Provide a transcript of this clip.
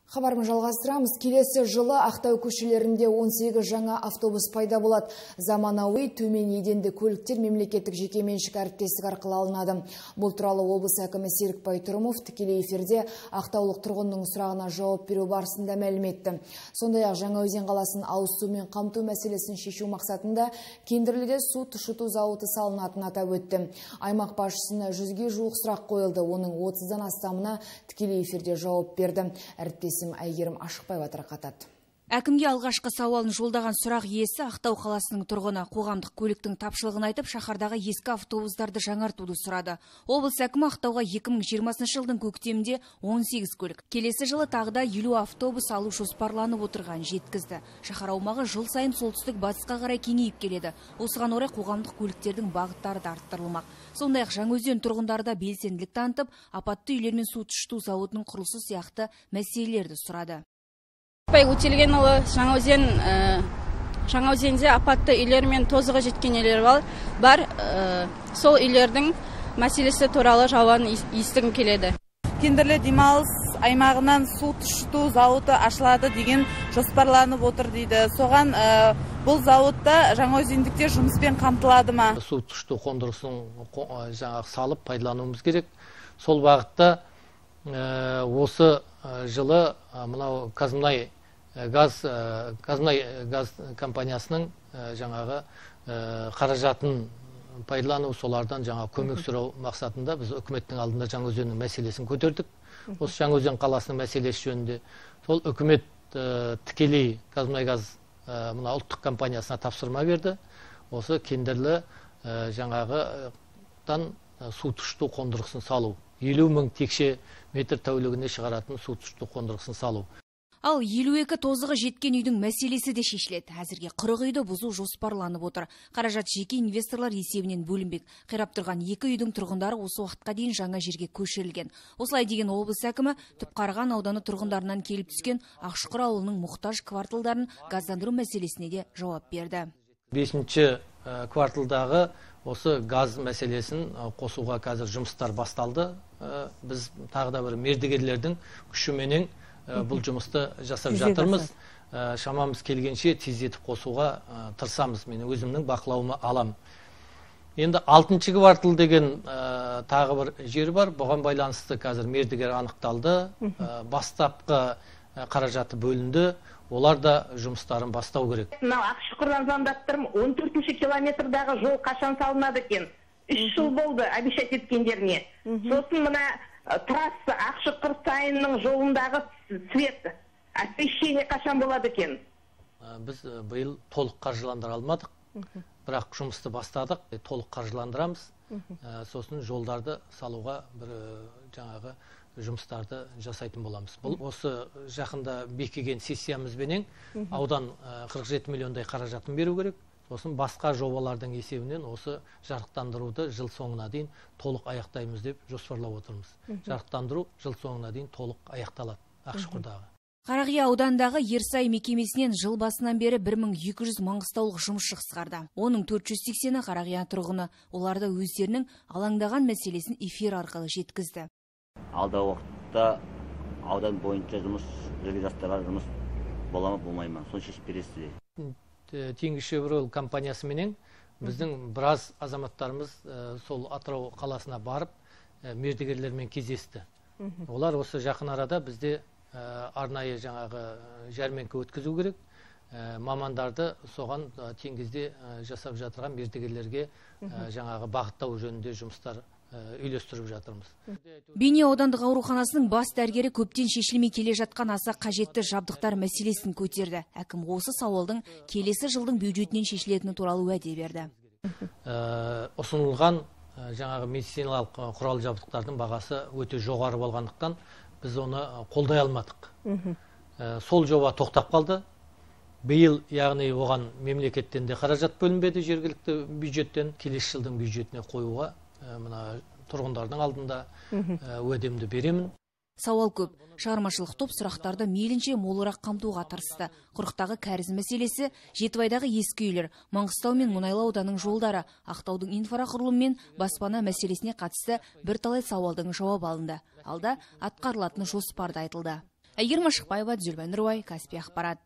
Хабарымызды жалғастырамыз. Келесі жылы Ақтау көшелерінде 18 жаңа автобус пайда болады. Заманауи төмен еденді көліктер мемлекеттік жекеменшік әріптестік арқылы алынады. Бұл туралы облыс әкімі Серікбай Тұрымов тікелей эфирде ақтаулық тұрғынның сұрағына жауап беру барысында мәлім етті. Сондай-ақ Жаңаөзен қаласын ауыз сумен қамту мәселесін шешу мақсатында Кендірліде су тұщыту зауыты салынатынын атап өтті. Аймақ басшысына 100-ге жуық сұрақ қойылды. Оның 30-дан астамына тікелей эфирде жауап берді. Әйгерім Ашықбаева тарқатады. Әкімге алғашқы сауалын жолдаған сұрақ иесі Ақтау қаласының тұрғыны қоғамдық көліктің тапшылығын айтып, шаһардағы ескі автобустарды жаңартуды сұрады. Облыс әкімі Ақтауға 2020 жылдың көктемінде 18 көлік, келесі жылы тағы да 50 автобус алу жоспарланып отырған жеткізді. Шаһар аумағы жыл сайын солтүстік батысқа қарай кеңейіп келеді. Осыған орай қоғамдық көліктердің бағыттары да арттырылмақ. Сондай-ақ Жаңаөзен тұрғындары да белсенділік танытып, апатты үйлер мен су тұщыту зауытының құрылысы сияқты мәселелерді сұрады. Өтелгенұлы, Жаңаөзенде апатты үйлер мен тозығы жеткен үйлер бар. Сол үйлердің мәселесі туралы жауабын естігім келеді. Кендірлі демалыс аймағынан су тұщыту зауыты ашылады деген жоспарланып отыр дейді. Соған бұл зауытта жаңаөзендіктер жұмыспен қамтылады ма? Су тұщыту қондырғысын салып пайдалануымыз керек. Сол бағытта осы жылы мынау Қазмұнай газ компаниясының жаңағы қаражатын пайдалану, солардан жаңа көмек сұрау мақсатында біз үкіметтің алдында Жаңаөзеннің мәселесін көтердік. Осы Жаңаөзен қаласының мәселесі жөнінде сол үкімет тікелей Қазмұнай газ мына ұлттық компаниясына тапсырма берді. Осы Кендірлі жаңағыдан су тұщыту қондырғысын салу, 50 мың текше метр тәулігіне шығаратын су тұщыту қондырғысын салу. Ал 52 тозығы жеткен үйдің мәселесі де шешіледі. Әзірге 40 үйді бұзу жоспарланып отыр. Қаражат жеке инвесторлар есебінен бөлінбек. Қирап тұрған 2 үйдің тұрғындары осы уақытқа дейін жаңа жерге көшірілген. Осылай деген облыс әкімі Түпқараған ауданы тұрғындарынан келіп түскен Ақшұқыр ауылының мұқтаж кварталдарын газдандыру мәселесіне де жауап берді. 5-ші кварталдағы осы газ мәселесін қосуға қазір жұмыстар басталды. Біз тағы да бір мердігерлердің күшіменен бұл жұмысты жасап жатырмыз. Шамамыз келгенше тездетіп қосуға тырысамыз. Мен өзімнің бақылауыма алам. Енді 6-ші квартал деген тағы бір жер бар. Бұған байланысты қазір мердігер анықталды. Бастапқы қаражаты бөлінді. Олар да жұмыстарын бастау керек. Ақшұқырдан звондап тұрмын. 14-ші километрдағы жол қашан салынады екен? 3 жыл болды обещать еткендеріне. Сосын мына трасса Ақшұқыр сайынның жолындағы свет, освещение қашан болады екен? Біз биыл толық қаржыландыра алмадық. Бірақ жұмысты бастадық, толық қаржыландырамыз. Сосын жолдарды салуға бір жаңағы жұмыстарды жасайтын боламыз. Бұл осы жақында бекіген сессиямызбенен аудан 47 миллиондай қаражатын беру керек. Сосын басқа жобалардың есебінен осы жарықтандыруды жыл соңына дейін толық аяқтаймыз деп жоспарлап отырмыз. Жарықтандыру жыл соңына дейін толық аяқталады Ақшұқырдағы. Қарақия аудандағы Ерсай мекемесінен жыл басынан бері 1200 маңғыстаулық жұмысшы қысқарды. Оның 480-і Қарақия тұрғыны. Оларды өздерінің алаңдаған мәселесін эфир арқылы жеткізді. Алдағы уақытта аудан бойынша жұмыс жастарға жұмыс бола ма, болмай ма? Соны шешіп бересіздер. Теңізшевройл компаниясыменен біздің біраз азаматтарымыз сол Атырау қаласына барып мердігерлермен кездесті. Олар осы жақын арада бізде арнайы жаңағы жәрмеңке өткізу керек. Мамандарды соған теңізде жасап жатырған мердігерлерге жаңағы бағыттау жөнінде жұмыстар үйлестіріп жатырмыз. Бейнеу аудандық ауруханасының бас дәрігері көптен шешілмей келе жатқан аса қажетті жабдықтар мәселесін көтерді. Әкім осы сауалдың келесі жылдың бюджетінен шешілетіні туралы уәде берді. Ұсынылған жаңағы медициналық құрал жабдықтардың бағасы өте жоғары болғандықтан біз оны қолдай алмадық. Сол жоба тоқтап қалды. Биыл, яғни оған мемлекеттен де қаражат бөлінбеді, жергілікті бюджеттен. Келесі жылдың бюджетіне қоюға мына тұрғындардың алдында уәдемді беремін. Сауал көп. Шығармашылық топ сұрақтарды мейлінше молырақ қамтуға тырысты. Құрықтағы кәріз мәселесі, Жетібайдағы ескі үйлер, Маңғыстау мен Мұнайлы ауданның жолдары, Ақтаудың инфрақұрылым мен баспана мәселесіне қатысты бірталай сауалдың жауап алынды. Алда атқарылатын жоспарды айтылды. Әйгерім Ашықбаева, Дүзелбай Нұрбай, Каспий ақпарат.